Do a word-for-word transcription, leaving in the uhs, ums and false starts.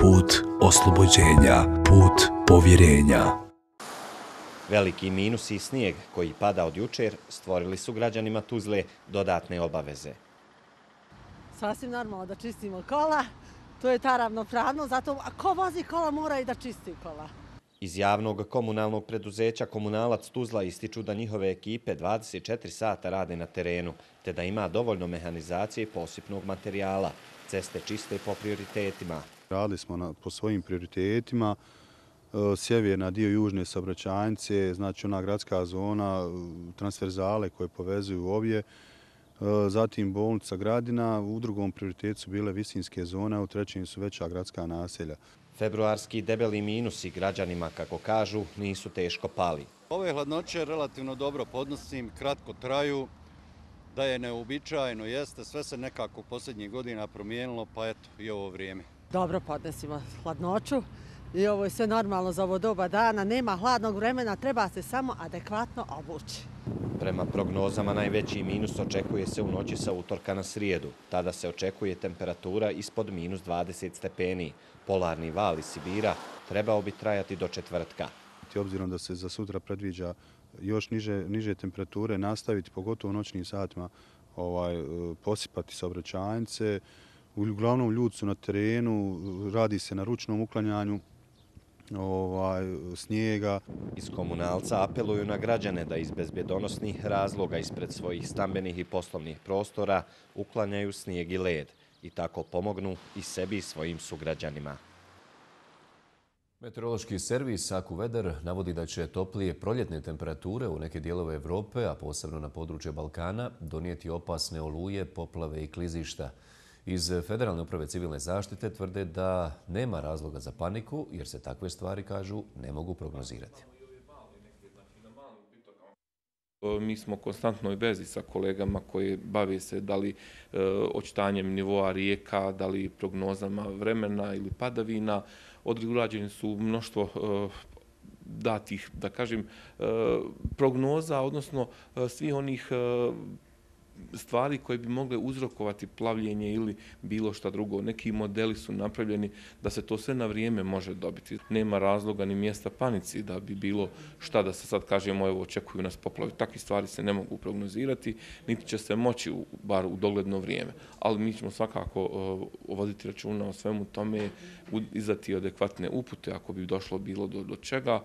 put oslobođenja, put povjerenja. Veliki minus i snijeg koji pada od jučer stvorili su građanima Tuzle dodatne obaveze. Sasvim normalno da čistimo kola, to je ta ravnopravnost, zato a ko vozi kola mora i da čisti kola. Iz javnog komunalnog preduzeća Komunalac Tuzla ističu da njihove ekipe dvadeset četiri sata rade na terenu, te da ima dovoljno mehanizacije i posipnog materijala. Ceste čiste po prioritetima. Radili smo na, po svojim prioritetima, sjeverna dio južne saobraćajnice, znači ona gradska zona, transverzale koje povezuju obje, zatim bolnica Gradina, u drugom prioritetu su bile visinske zone, a u trećem su veća gradska naselja. Februarski debeli minusi građanima, kako kažu, nisu teško pali. Ove hladnoće relativno dobro podnosim, kratko traju, da je neuobičajeno jeste, sve se nekako posljednjih godina promijenilo, pa eto i ovo vrijeme. Dobro podnesimo hladnoću i ovo je sve normalno za ovo doba dana, nema hladnog vremena, treba se samo adekvatno obući. Prema prognozama najveći minus očekuje se u noći sa utorka na srijedu. Tada se očekuje temperatura ispod minus dvadeset stepeni. Polarni val iz Sibira trebao bi trajati do četvrtka. Obzirom da se za sutra predviđa još niže, niže temperature, nastaviti pogotovo u noćnim satima ovaj, posipati saobraćajnice. Uglavnom ljudi su na terenu, radi se na ručnom uklanjanju ovaj, snijega. Iz Komunalca apeluju na građane da iz bezbjedonosnih razloga ispred svojih stambenih i poslovnih prostora uklanjaju snijeg i led i tako pomognu i sebi i svojim sugrađanima. Meteorološki servis AccuWeather navodi da će toplije proljetne temperature u neke dijelove Evrope, a posebno na područje Balkana, donijeti opasne oluje, poplave i klizišta. Iz Federalne uprave civilne zaštite tvrde da nema razloga za paniku, jer se takve stvari, kažu, ne mogu prognozirati. Mi smo u konstantnoj vezi sa kolegama koji bave se da li e, očitanjem nivoa rijeka, da li prognozama vremena ili padavina. Određeni su mnoštvo e, datih, da kažem, e, prognoza, odnosno e, svih onih e, stvari koje bi mogle uzrokovati plavljenje ili bilo šta drugo. Neki modeli su napravljeni da se to sve na vrijeme može dobiti. Nema razloga ni mjesta panici da bi bilo šta da se sad kažemo evo očekuju nas poplave. Takve stvari se ne mogu prognozirati, niti će se moći u, bar u dogledno vrijeme. Ali mi ćemo svakako uh, voditi računa o svemu tome, izdati adekvatne upute ako bi došlo bilo do, do čega.